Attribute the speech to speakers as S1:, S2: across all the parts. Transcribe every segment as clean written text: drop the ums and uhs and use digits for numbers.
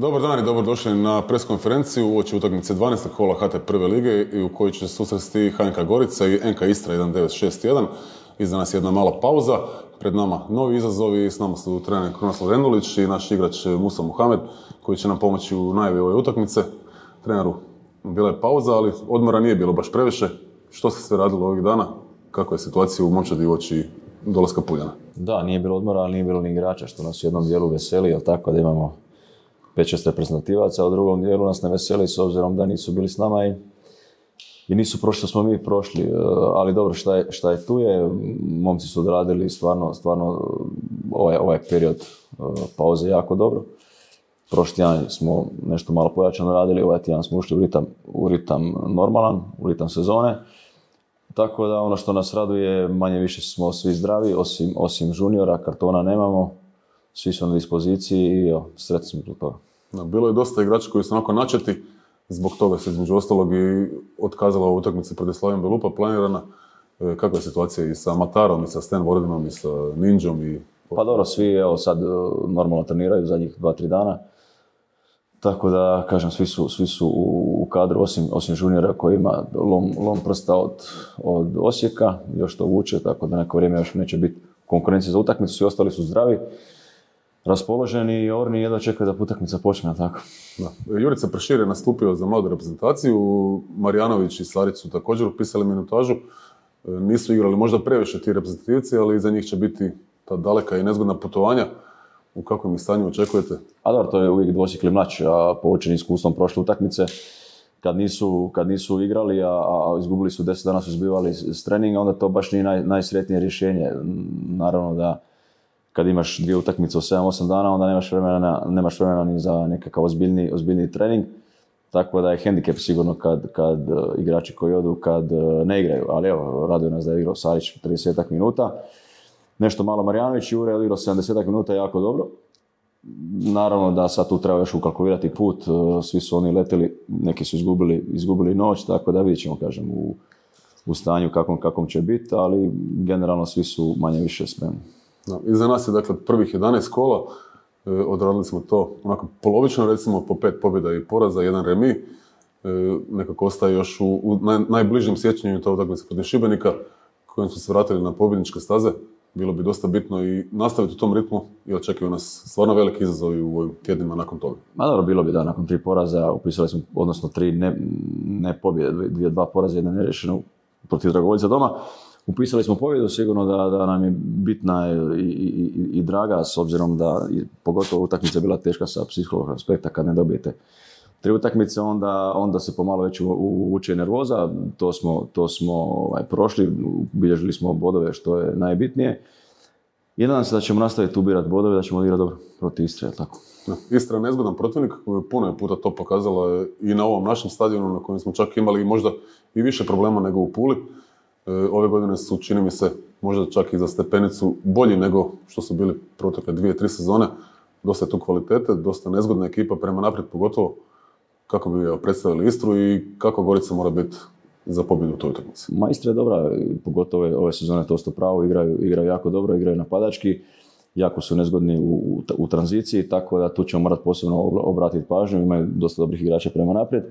S1: Dobar dan i dobrodošli na pres konferenciju uoči utakmice 12. kola HT prve lige i u kojoj će se susresti HNK Gorica i NK Istra 1961. Iza nas je jedna mala pauza, pred nama novi izazovi, s nama su trener Krunoslav Rendulić i naš igrač Musa Muhamed koji će nam pomoći u najavi ove utakmice. Treneru, bila je pauza, ali odmora nije bilo baš previše. Što se sve radilo ovih dana? Kakva je situacija u Momčadi uoči dolaska Puljana?
S2: Da, nije bilo odmora, ali nije bilo ni igrača, što nas u jednom dijelu veseli, jel tako, da imamo 5-6 reprezentativaca, a u drugom dijelu nas ne veseli s obzirom da nisu bili s nama i nisu prošli što smo mi prošli. Ali dobro, šta je tu je, momci su odradili stvarno ovaj period pauze jako dobro. Prošli tjedan smo nešto malo pojačano radili, ovaj tjedan smo ušli u ritam normalan, u ritam sezone. Tako da ono što nas raduje, manje više smo svi zdravi, osim juniora, kartona nemamo, svi su na dispoziciji i sretni smo zbog toga.
S1: Bilo je dosta igrača koji su onako načeti, zbog toga se između ostalog i otkazala u utakmici protiv Slaven Belupa planirana. Kakva je situacija i sa Matarom, i sa Stan Vordinom, i sa Ninjom?
S2: Pa dobro, svi sad normalno treniraju zadnjih 2-3 dana. Tako da, kažem, svi su u kadru, osim juniora koji ima lom prsta od Osijeka, još to vuče, tako da neko vrijeme još neće biti konkurencije za utakmicu, svi ostali su zdravi, raspoloženi i orni jedva čekaju da utakmica počne, tako.
S1: Da. Jurica Prešir je nastupio za mladu reprezentaciju, Marjanović i Sarić su također upisali minutažu, nisu igrali možda previše ti reprezentativci, ali za njih će biti ta daleka i nezgodna putovanja. U kakvom ih stanju očekujete?
S2: A dobro, to je uvijek dvosjekli mač, a poučeni iskustvom prošle utakmice, kad nisu igrali, a izgubili su 10 dana su izbivali s treninga, onda to baš nije najsretnije rješenje. Naravno da kad imaš 2 utakmice u 7-8 dana, onda nemaš vremena ni za nekakav ozbiljniji trening. Tako da je hendikep sigurno kad igrači koji odu, kad ne igraju. Ali evo, raduje nas da je igrao Sarić 30 minuta. Nešto malo Marjanović, Jure je odigrao 70 minuta jako dobro. Naravno da sad tu treba još ukalkulirati put, svi su oni leteli, neki su izgubili noć, tako da vidjet ćemo, kažem, u stanju kakvom će biti, ali generalno svi su manje više spremni.
S1: Iza nas je dakle prvih 11 kola, odradili smo to onako polovično, recimo po 5 pobjeda i poraza, 1 remi. Nekako ostaje još u najbližem sjećanju to utakmica protiv Šibenika, kojim su se vratili na pobjedničke staze. Bilo bi dosta bitno i nastaviti u tom ritmu i očekuju nas stvarno veliki izazovi u ovim tjednima nakon toga.
S2: Ma dobro, bilo bi da nakon 3 poraza, upisali smo, odnosno 3 ne pobjede, 2 poraza, 1 nerešeno protiv Dragovoljca doma. Upisali smo pobjedu, sigurno da nam je bitna i draga, s obzirom da pogotovo utakmica je bila teška sa psihološkog aspekta, kad ne dobijete 3 utakmice, onda se pomalo već uvuče nervoza, to smo prošli, bilježili smo bodove što je najbitnije. I nadam se da ćemo nastaviti ubirati bodove, da ćemo odigrati dobro protiv Istre, je tako?
S1: Istra je nezgodan protivnik, puno je puta to pokazala i na ovom našem stadionu na kojem smo čak imali možda i više problema nego u Puli. Ove godine su, čini mi se, možda čak i za stepenicu bolji nego što su bili protekle 2-3 sezone. Dosta je tu kvalitete, dosta nezgodna ekipa prema naprijed pogotovo. Kako bi predstavili Istru i kako Gorica mora biti za pobjedu u toj utakmici?
S2: Istra je dobra, pogotovo ove sezone to sto pravo, igraju jako dobro, igraju napadački, jako su nezgodni u tranziciji, tako da tu ćemo morati posebno obratiti pažnju, imaju dosta dobrih igrača prema naprijed.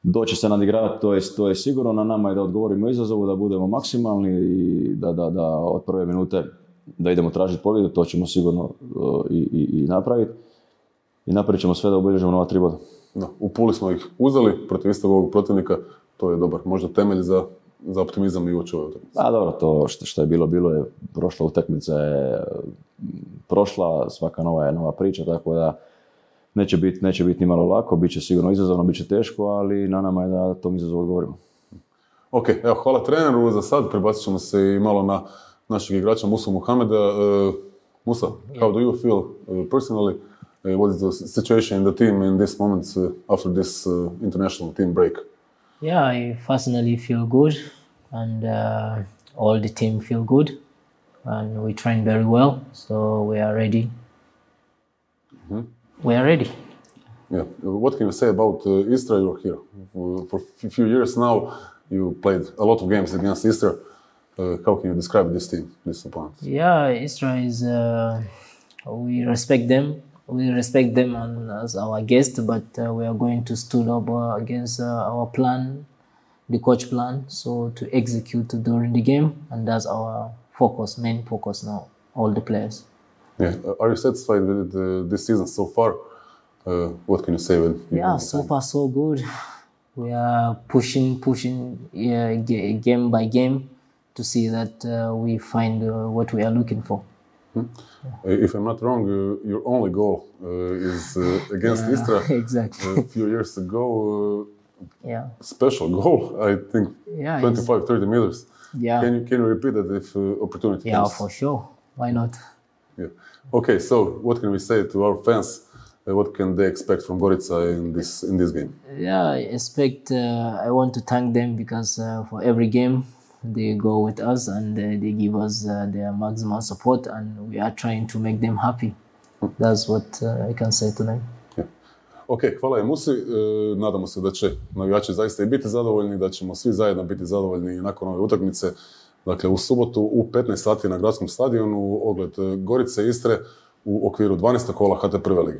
S2: Doći se nadigravati, to je sigurno, na nama je da odgovorimo izazovu, da budemo maksimalni i da od prve minute da idemo tražiti pobjedu, to ćemo sigurno i napraviti. I napravit ćemo sve da obilježimo nova 3 boda.
S1: Da, u Puli smo ih uzeli protiv istog ovog protivnika, to je dobar, možda temelj za optimizam i uoči ove utakmice.
S2: A dobro, to što je bilo je, prošla utakmica je prošla, svaka nova priča, tako da neće biti ni malo lako, bit će sigurno izazovno, bit će teško, ali na nama je da tom izazovu odgovorimo.
S1: Ok, evo, hvala treneru za sad, prebacit ćemo se i malo na našeg igrača Musu Muhameda. Musa, how do you feel personally? What is the situation in the team in this moment after this international team break?
S3: Yeah, I personally feel good, and all the team feel good, and we train very well, so we are ready.
S1: Mm-hmm.
S3: We are ready.
S1: Yeah. What can you say about Istra? You're here for a few years now. You played a lot of games against Istra. How can you describe this team, this opponent?
S3: Yeah, Istra is. We respect them. we respect them as our guest, but we are going to stood up against our plan, the coach plan, so to execute during the game, and that's our main focus now, all the players.
S1: Yeah. Are you satisfied with this season so far? What can you say?
S3: So far so good. We are pushing game by game to see that we find what we are looking for.
S1: If I'm not wrong, your only goal is against Istra.
S3: Exactly.
S1: A few years ago.
S3: Yeah.
S1: Special goal, I think. 25-30 meters.
S3: Yeah.
S1: Can you repeat that if opportunity comes?
S3: Yeah, for sure. Why not?
S1: Yeah. Okay, so what can we say to our fans? What can they expect from Gorica in this game?
S3: Yeah, I want to thank them because for every game they go with us and they give us their maximum support, and we are trying to make them happy. That's what I can say to them.
S1: Yeah. Ok, hvala je Musi. Nadamo se da će navijači zaista i biti zadovoljni, da ćemo svi zajedno biti zadovoljni nakon ove utakmice. Dakle, u subotu u 15 sati na gradskom stadionu ogled Gorice Istre u okviru 12. kola HT prve lige.